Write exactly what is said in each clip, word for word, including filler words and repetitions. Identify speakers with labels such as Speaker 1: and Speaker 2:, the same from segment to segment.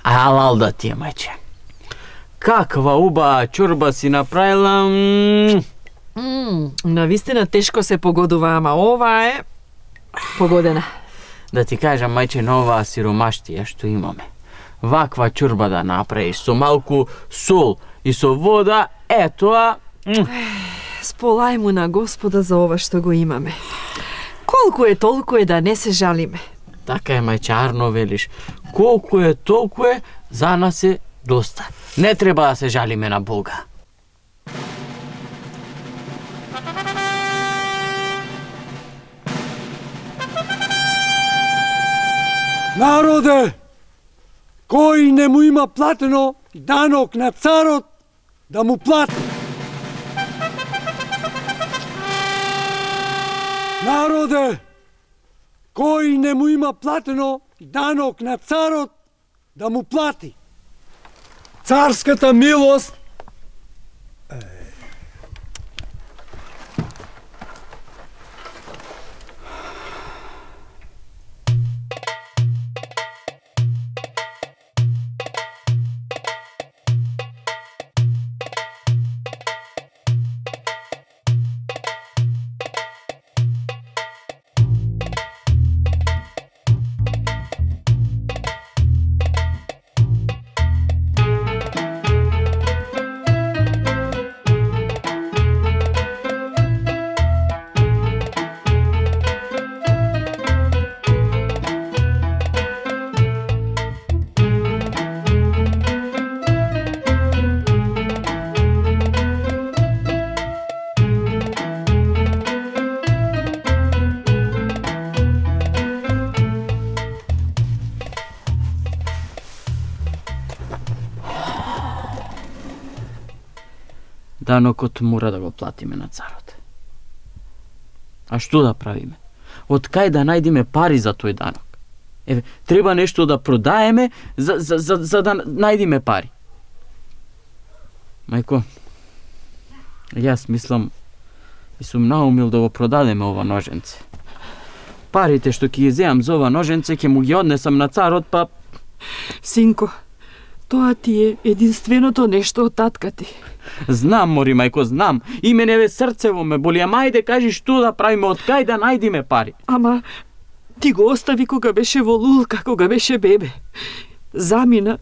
Speaker 1: Алал да ти е, мајче. Каква убава чорба си направила.
Speaker 2: Mm, навистина тешко се погодува, ама ова е погодена.
Speaker 1: Да ти кажам, мајче, на оваа сиромаштија што имаме, ваква чорба да направиш со малку сол и со вода, е тоа.
Speaker 2: Сполај му на Господа за ова што го имаме. Колку е толку е, да не се жалиме.
Speaker 1: Така е, мајче, арно велиш. Колку е толку е, за нас е доста. Не треба да се жалиме на Бога.
Speaker 3: Народе, кој не му има платено данок на царот, да му плати. Народе, кој не му има платено данок на царот, да му плати. Царската милост
Speaker 1: Данокот мора да го платиме на царот. А што да правиме? Од кај да најдеме пари за тој данок? Еве, треба нешто да продаеме за, за, за, за да најдеме пари. Мајко, јас мислам и сум наумил да го продадеме ова ноженце. Парите што ќе ги земам за ова ноженце ќе му ги однесам на царот, па...
Speaker 2: Синко, тоа ти е единственото нешто од татка ти.
Speaker 1: Знам, мори, мајко, знам. И мене ве срцево ме боли, ама ајде кажи што да правиме, од кај да најдеме пари.
Speaker 2: Ама ти го остави кога беше во лулка, кога беше бебе. Замина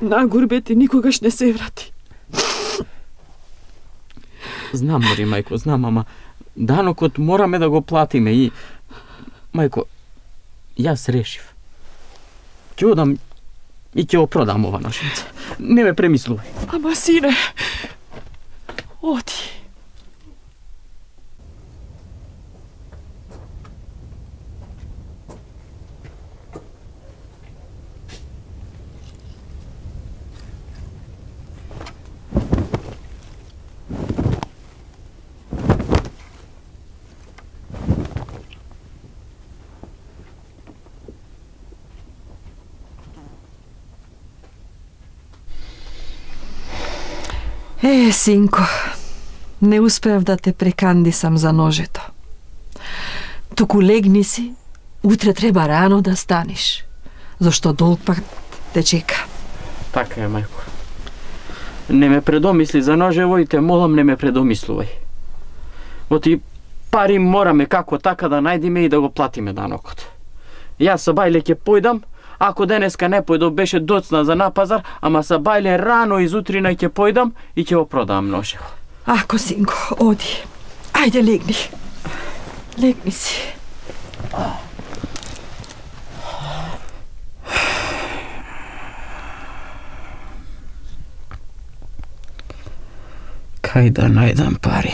Speaker 2: на гурбет и никогаш не се врати.
Speaker 1: Знам, мори, мајко, знам, ама данокот мораме да го платиме и... Мајко, јас решив. Ќе одам и ќе го продам ова ноженце. Не ме премислувај.
Speaker 2: Ама, сине, оди. Е, синко, не успеав да те прекандисам за ножето. Туку легни си, утре треба рано да станеш, зашто долг пак те чека.
Speaker 1: Така е, мајко. Не ме предомисли за ножево и те молам, не ме предомислувај. Оти пари мораме како така да најдеме и да го платиме данокот. Јас со Бајле ќе појдам. Ако денеска не појдов, беше доцна за на пазар, ама са Бајле рано изутрина ќе појдам и ќе го продам ножево.
Speaker 2: Ако, синко, оди. Ајде, легни. Легни си.
Speaker 1: Кај да најдам пари?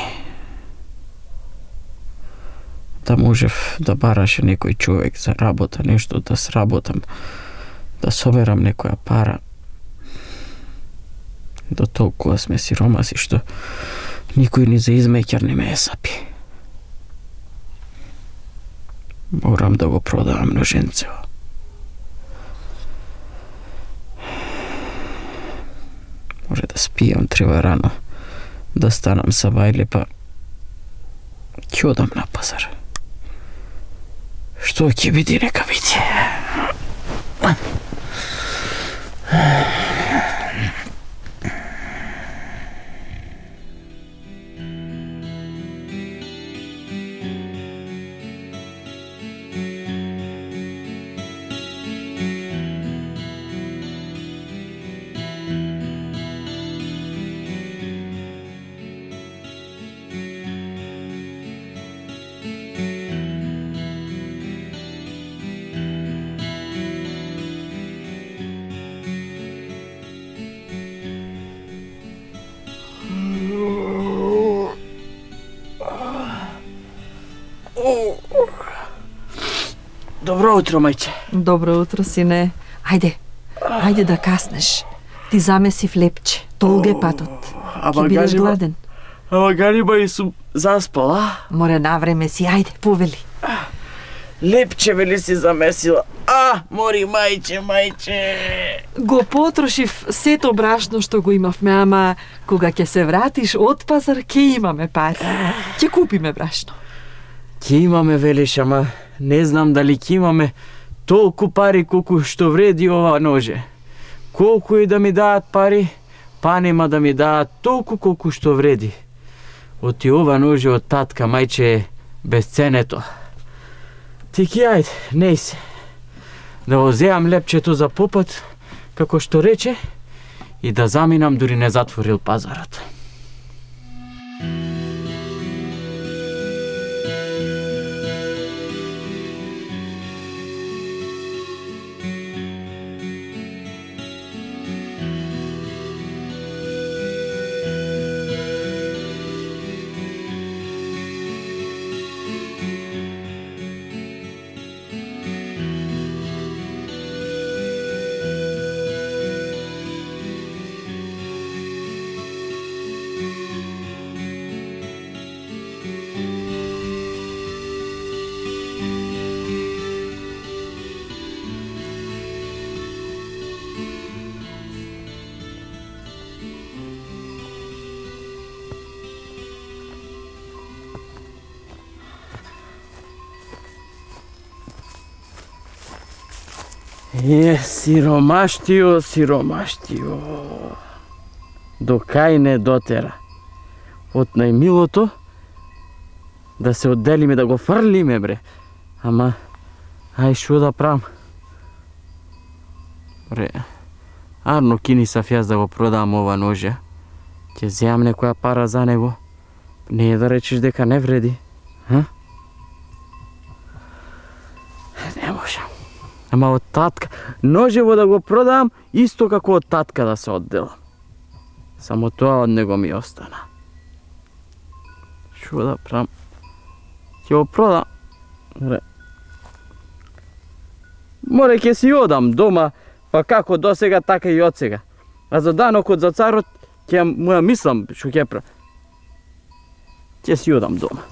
Speaker 1: Да можев да бараше некој човек за работа, нешто да сработам, да соберам некоја пара. До толкова сме сиромаси што никој ни за измеќар не ме е сапи. Морам да го продавам ноженцево. Може да спијам, треба рано да станам са Бајле, па Ќе одам на пазар. Што ќе биде, нека биде. Добро утро, мајче.
Speaker 2: Добро утро, сине. Ајде, ајде да каснеш. Ти замеси в лепче. Долг е патот. Ке бидеш гладен.
Speaker 1: Ама ганиба и сум заспал, а?
Speaker 2: Море навреме си, ајде, повели.
Speaker 1: Лепче вели си замесила. А, мори, мајче, мајче.
Speaker 2: Го потрошив сето брашно што го имавме, ама кога ќе се вратиш од пазар, ќе имаме пари. Ќе купиме брашно.
Speaker 1: Ќе имаме, велиш, ама не знам дали ќе имаме толку пари колку што вреди ова ноже. Колку и да ми даат пари, па нема да ми даат толку колку што вреди. Оти ова ноже од татка, мајче, е безценето. Ти ки ајде, неј се. Да го земам лепчето за попат, како што рече, и да заминам дури не затворил пазарот. Е, сиромаштио, сиромаштио. До кај не дотера. Од најмилото да се одделиме, да го фрлиме, бре. Ама, ај шо да правам? Бре, арно кини сав јас да го продам ова ноже. Ќе земам некоја пара за него. Не е да речеш дека не вреди. Ха? Не можам. Ама од татка, ножево да го продам, исто како од татка да се одделам. Само тоа од него ми остана. Шо да правам? Ќе го продам. Море ќе си одам дома, па како досега, така и од сега. А за данокот за царот, ќе му ја мислам што ќе правам. Ќе си одам дома.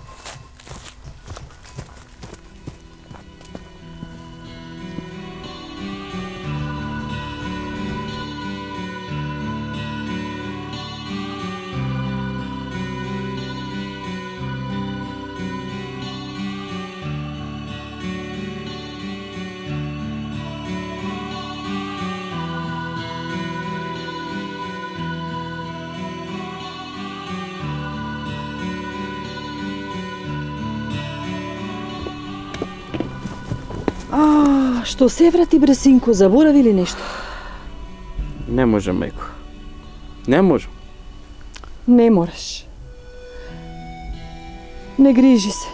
Speaker 2: А, што се врати, бре, синко, заборави ли нешто?
Speaker 1: Не можам, мајко. Не можам.
Speaker 2: Не мораш. Не грижи се.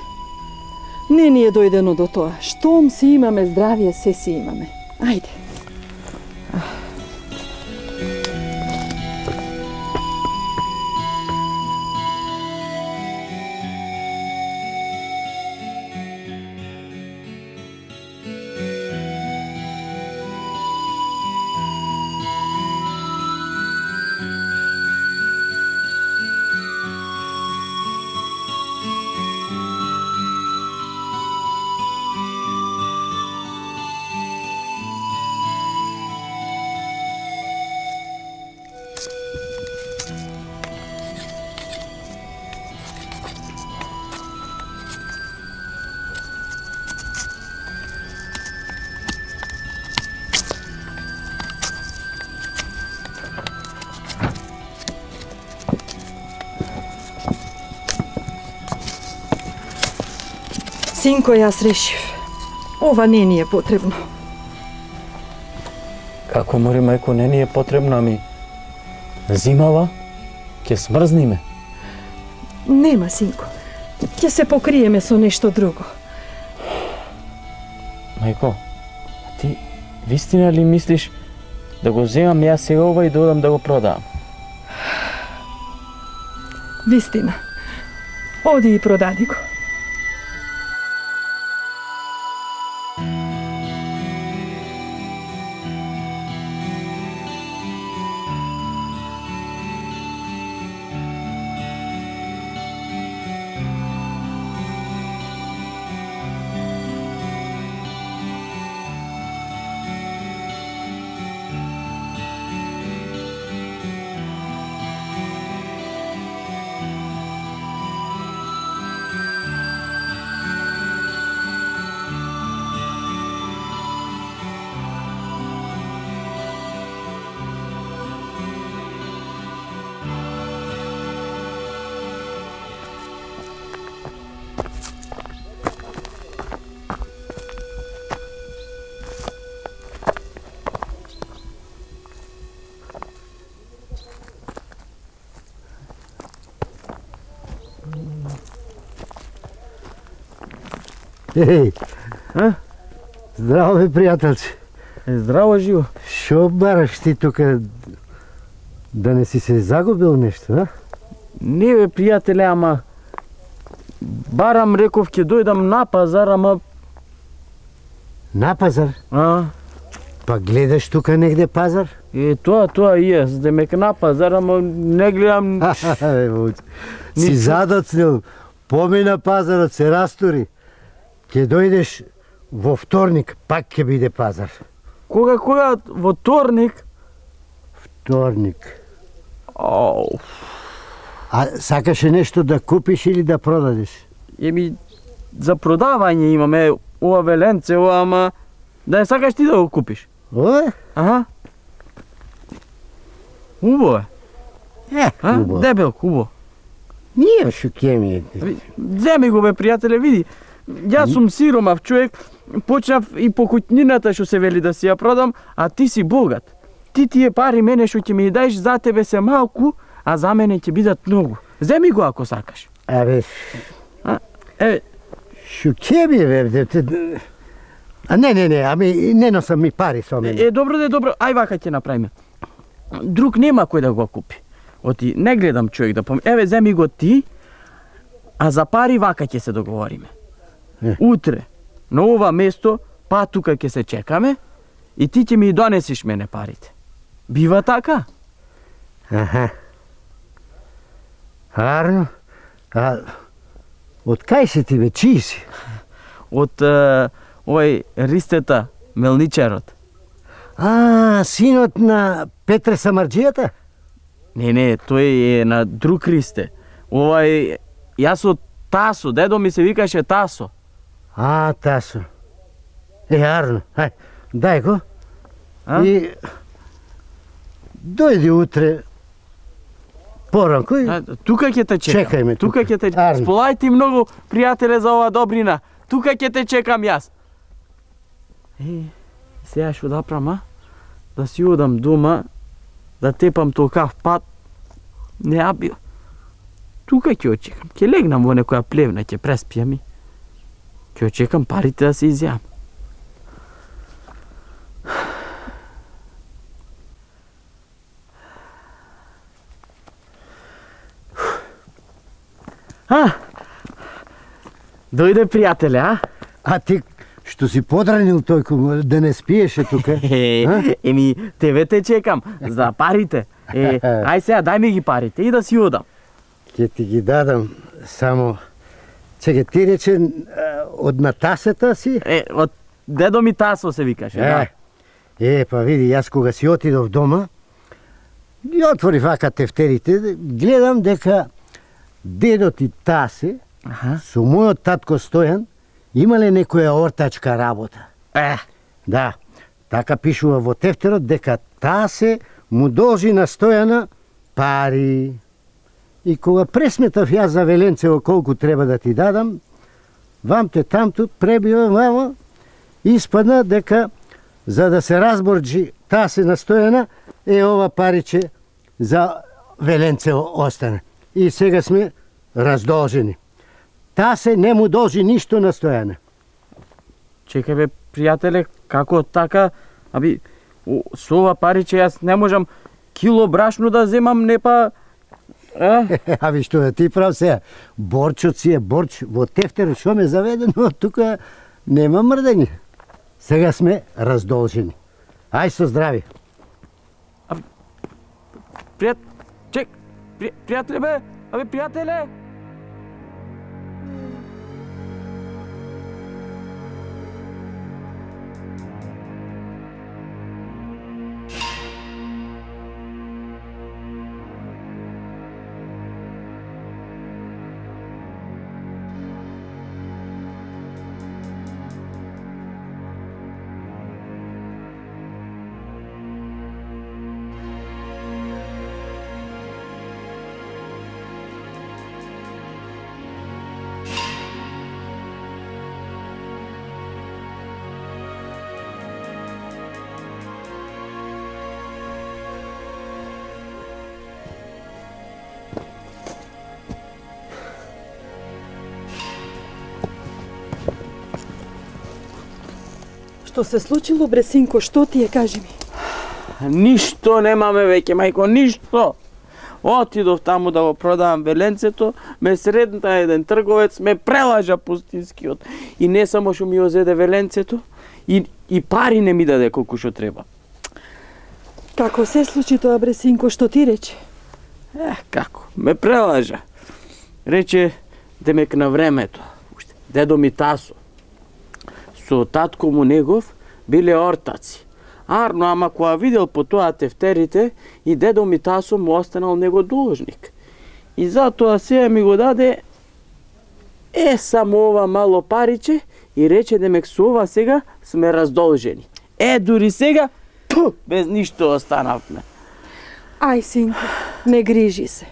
Speaker 2: Не ни е дојдено до тоа. Штом си имаме здравие, се си имаме. Ајде. Синко, јас решив. Ова не ни е потребно.
Speaker 1: Како мори, мајко, не ни е потребно, ами зимава, ќе смрзниме.
Speaker 2: Нема, синко. Ќе се покриеме со нешто друго.
Speaker 1: Мајко, а ти вистина ли мислиш да го земам јас сега ова и да одам да го продавам?
Speaker 2: Вистина. Оди и продади го.
Speaker 4: Еј,
Speaker 1: А?
Speaker 4: здраво бе, пријателче.
Speaker 1: Е, здраво, живо.
Speaker 4: Шо бараш ти тука? Да не си се загубил нешто, а?
Speaker 1: Не бе, пријателе, ама барам, реков, ќе дојдам на пазар, ама...
Speaker 4: На пазар?
Speaker 1: А?
Speaker 4: Па гледаш тука негде пазар?
Speaker 1: Е, тоа, тоа и е, демек на пазар, ама не гледам...
Speaker 4: Бе, вуч. Си
Speaker 1: Ништо.
Speaker 4: задоцнил, помина пазарот, се растури. Ке дојдеш во вторник, пак ќе биде пазар.
Speaker 1: Кога, кога, во вторник?
Speaker 4: Вторник.
Speaker 1: Ау,
Speaker 4: А сакаше нешто да купиш или да продадеш?
Speaker 1: еми, за продавање имаме ова веленце, ова, ама... Да не сакаш ти да го купиш?
Speaker 4: Ое?
Speaker 1: Аха. Убаво е.
Speaker 4: Е,
Speaker 1: А?
Speaker 4: убаво.
Speaker 1: Дебел, убаво.
Speaker 4: Ние шо ке ми е.
Speaker 1: Земи го, бе, пријателе, види. Јас сум сиромав човек, почнав и по куќнината што се вели да си ја продам, а ти си богат. Ти тие пари мене што ќе ми даеш за тебе се малку, а за мене ќе бидат многу. Земи го ако сакаш.
Speaker 4: Абе,
Speaker 1: А? Еве,
Speaker 4: шо ке ми е, бе, де- де- А не, не, не, ами не носам ми пари со мене.
Speaker 1: е, добро де, добро, ај вака ќе направиме. Друг нема кој да го купи. Оти, не гледам човек да пом... Еве, земи го ти, а за пари вака ќе се договориме.
Speaker 4: Е.
Speaker 1: Утре, на ова место, па тука ќе се чекаме и ти ќе ми донесиш мене парите. Бива така?
Speaker 4: Аха. Арно? А од кај си ти, бе, чии си?
Speaker 1: Од е, овој Ристета, мелничарот.
Speaker 4: А, синот на Петре Самарџијата?
Speaker 1: Не, не, тој е на друг Ристе. Овај, јас од Тасо, дедо ми се викаше Тасо.
Speaker 4: А, Тасо. Е, арно, ај, дај го.
Speaker 1: А?
Speaker 4: И дојди утре поранко и...
Speaker 1: А, тука ќе те чекам.
Speaker 4: Чекај ме
Speaker 1: Тука
Speaker 4: тука.
Speaker 1: ќе те
Speaker 4: Арно.
Speaker 1: Сполај ти многу, пријателе, за ова добрина. Тука ќе те чекам јас. Е, сега што да правам, а? Да си одам дома, да тепам толкав пат. Не абио. Тука ќе очекам. Ќе легнам во некоја плевна, ќе преспијам и ќе очекам парите да се изјам. А, дојде пријателе, а?
Speaker 4: А ти што си подранил тој, да не спиеше тука?
Speaker 1: Е, еми, тебе те чекам, за парите. Е, ај сега, дај ми ги парите и да си одам.
Speaker 4: Ќе ти ги дадам, само... Чекай, ти рече а, од Натасата си?
Speaker 1: Е, од дедо ми Тасо се викаше, да.
Speaker 4: Е, па види, јас кога си отидов дома, ги отвори вака тефтерите, гледам дека дедот и Тасе,
Speaker 1: Аха.
Speaker 4: со мојот татко Стојан, имале некоја ортачка работа.
Speaker 1: Е,
Speaker 4: Да, така пишува во тефтерот дека Тасе му должи на Стојана пари. И кога пресметав јас за Веленцево колку треба да ти дадам, вамте тамту, пребива вамо, испадна дека за да се разборджи таа се настоена, е ова париче за Веленце остане. И сега сме раздолжени. Таа се не му должи ништо на Стојане.
Speaker 1: Чекај бе, пријателе, како така? Аби, со ова париче јас не можам кило брашно да земам, не па... А?
Speaker 4: Аби што е, ти прав се, борчот си е борч, во тефтерот шо ме заведено, тука нема мрдење. Сега сме раздолжени. Ај со здрави.
Speaker 1: Пријат... Чек, при... пријателе бе, абе пријателе!
Speaker 2: Што се случило, бре синко, што ти е, кажи ми?
Speaker 1: Ништо немаме веќе, мајко, ништо. Отидов таму да го продавам Веленцето, ме средна еден трговец, ме прелажа пустинскиот. И не само што ми озеде Веленцето, и, и пари не ми даде колку што треба.
Speaker 2: Како се случи тоа, бре синко, што ти рече?
Speaker 1: Ех, како, ме прелажа. Рече, демек на времето, дедо ми Тасо, со татко му негов биле ортаци. Арно, ама која видел по тоа тефтерите, и дедо ми Тасо му останал него должник. И затоа сега ми го даде е само ова мало париче и рече демек со ова сега сме раздолжени. Е, дури сега, пу, без ништо останавме.
Speaker 2: Ај, синко, не грижи се.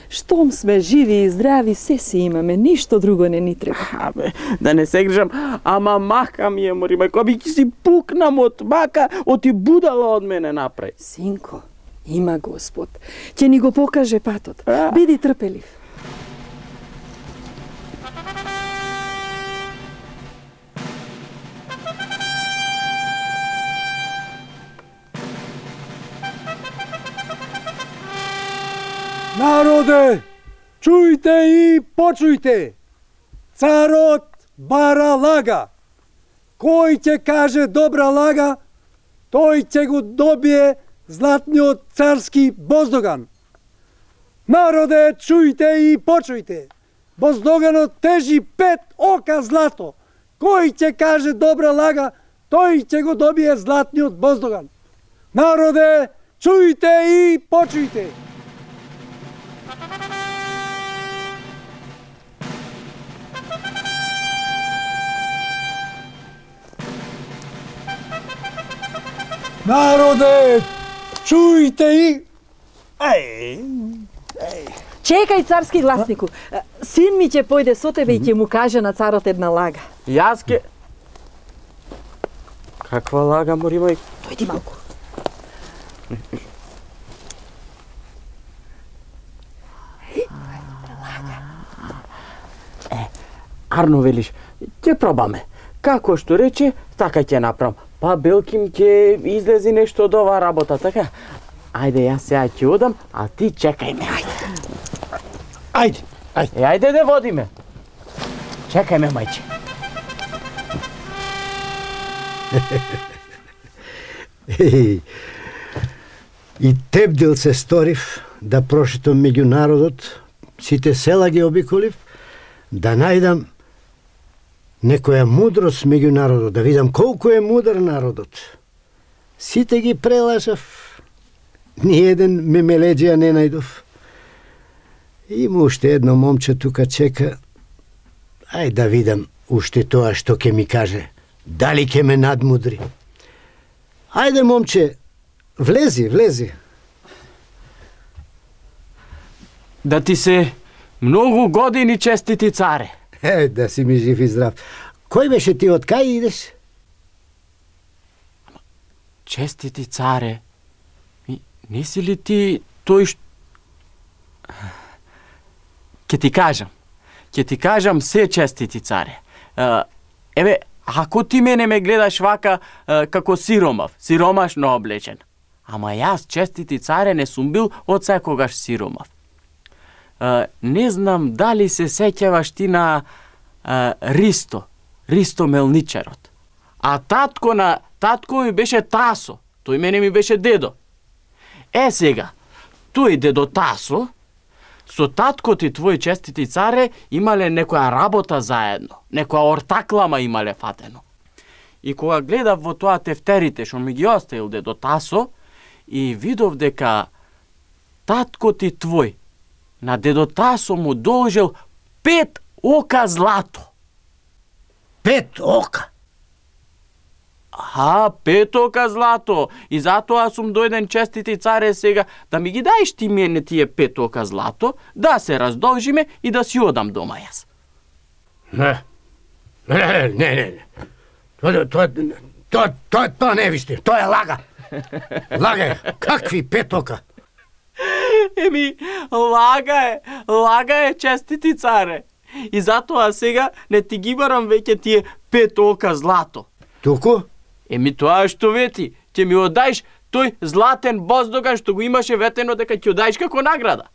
Speaker 2: Штом сме живи и здрави, се си имаме, ништо друго не ни треба.
Speaker 1: Абе, да не се грижам, ама мака ми е, мори мајко, би ќе си пукнам од мака, оти будала од мене напред.
Speaker 2: Синко, има Господ. Ќе ни го покаже патот.
Speaker 1: А?
Speaker 2: Биди трпелив.
Speaker 3: Народе, чујте и почујте. Царот бара лага. Кој ќе каже добра лага, тој ќе го добие златниот царски боздоган. Народе, чујте и почујте. Боздоганот тежи пет ока злато. Кој ќе каже добра лага, тој ќе го добие златниот боздоган. Народе, чујте и почујте. Народе, чујте и... Ај, ај.
Speaker 2: Чекај, царски гласнику. Син ми ќе појде со тебе и ќе му каже на царот една лага.
Speaker 1: Јас ке... Каква лага, мори мајко?
Speaker 2: Дојди малку.
Speaker 1: Арно велиш, ќе пробаме. Како што рече, така ќе направам. Па белким ќе излези нешто од оваа работа, така? Ајде, јас сега ќе одам, а ти чекај ме. Ајде.
Speaker 3: Ајде, ајде.
Speaker 1: Е, ајде да водиме. Чекај ме, мајче.
Speaker 4: И тебдил се сторив да прошетам меѓу народот, сите села ги обиколив, да најдам некоја мудрост меѓу народот, да видам колку е мудар народот. Сите ги прелажав, ни еден мемелеđија не најдов. Има уште едно момче тука чека, ај да видам уште тоа што ќе ми каже, дали ќе ме надмудри. Ајде, момче, влези, влези.
Speaker 1: Да ти се многу години, честити царе.
Speaker 4: Е, да си ми жив и здрав. Кој беше ти, од кај идеш?
Speaker 1: Честити царе, ми, не си ли ти тој што... Ке ти кажам, ке ти кажам се, честити царе. Uh, еве, ако ти мене ме гледаш вака uh, како сиромав, сиромашно облечен, ама јас, честити царе, не сум бил од секогаш сиромав. Uh, не знам дали се сеќаваш ти на uh, Ристо, Ристо Мелничарот. А татко на татко ми беше Тасо, тој мене ми беше дедо. Е сега, тој дедо Тасо со татко ти твој, честити царе, имале некоја работа заедно, некоја ортаклама имале фатено. И кога гледав во тоа тефтерите што ми ги оставил дедо Тасо, и видов дека татко ти твој на дедо Тасо му должел пет ока злато.
Speaker 4: Пет ока?
Speaker 1: А, пет ока злато. И затоа сум дојден, честити царе, сега да ми ги даеш ти мене тие пет ока злато, да се раздолжиме и да си одам дома јас.
Speaker 4: Не, не, не, не, не. Тоа, тоа, тоа, тоа, тоа не виште, тоа е лага. Лага е, какви пет ока?
Speaker 1: Еми, лага е, лага е, честити царе. И затоа сега не ти ги барам веќе тие пет ока злато.
Speaker 4: Туку?
Speaker 1: Еми тоа што вети, ќе ми одаиш тој златен боздоган што го имаше ветено дека ќе одаиш како награда.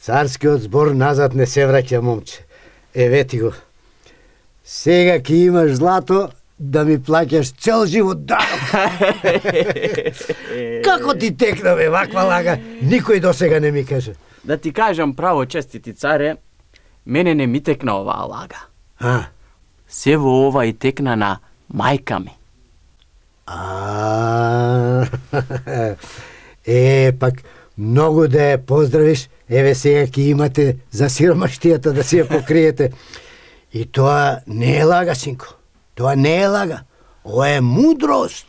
Speaker 4: Царскиот збор назад не се враќа, момче. Е, вети го. Сега ќе имаш злато да ми плаќаш цел живот данок. Како ти текна, бе, ваква лага? Никој досега не ми каже.
Speaker 1: Да ти кажам право, честити царе, мене не ми текна оваа лага.
Speaker 4: А?
Speaker 1: Се во ова и текна на мајка ми.
Speaker 4: А, е, пак, многу да ја поздравиш, еве сега ќе имате за сиромаштијата да си ја покриете. И тоа не е лага, синко. Тоа не е лага. Ова е мудрост.